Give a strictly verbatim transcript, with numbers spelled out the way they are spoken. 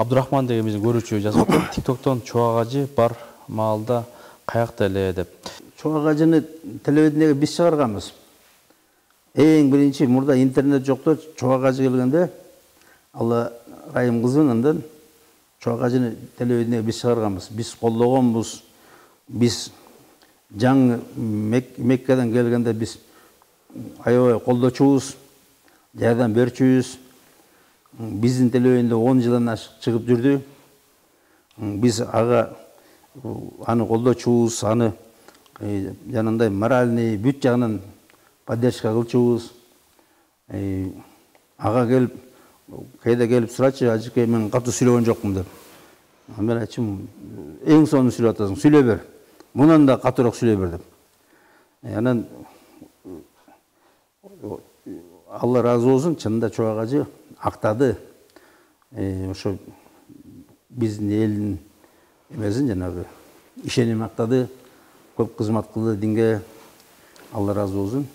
Абдурахман деген биздин көрүүчү жазып атат. TikToктон чубак ажы бар маалда каякта эле деп. Чубак ажыны телевидениеге биз чыгарганбыз. Эң биринчи мурда интернет жокто чубак ажы келгенде Алла Райым кызын андан чубак ажыны телевидениеге биз чыгарганбыз. Биз колдогонбуз. Биз жаңы Меккеден келгенде биз аябай колдочубуз, жардам берчүбүз. Биздин телевидениеде он жылдан ашык чыгып жүрдү. Биз ага аны колдочубуз, аны жанагындай моральный бүт жагынан поддержка кылчубуз. Ага келип, кайда келип сурачы, ажыке мен катуу сүйлөгөн жокмун деп. Мен айтчумун, эң сонун сүйлөп атасың, сүйлөй бер. Мундан да катуураак сүйлөй бер деп. Анан Алла разы болсун, чынында чубак ажы актады. Ошо биздин элдин эмесин жанагы ишеним актады. Көп кызмат кылды динге. Алла разы болсун.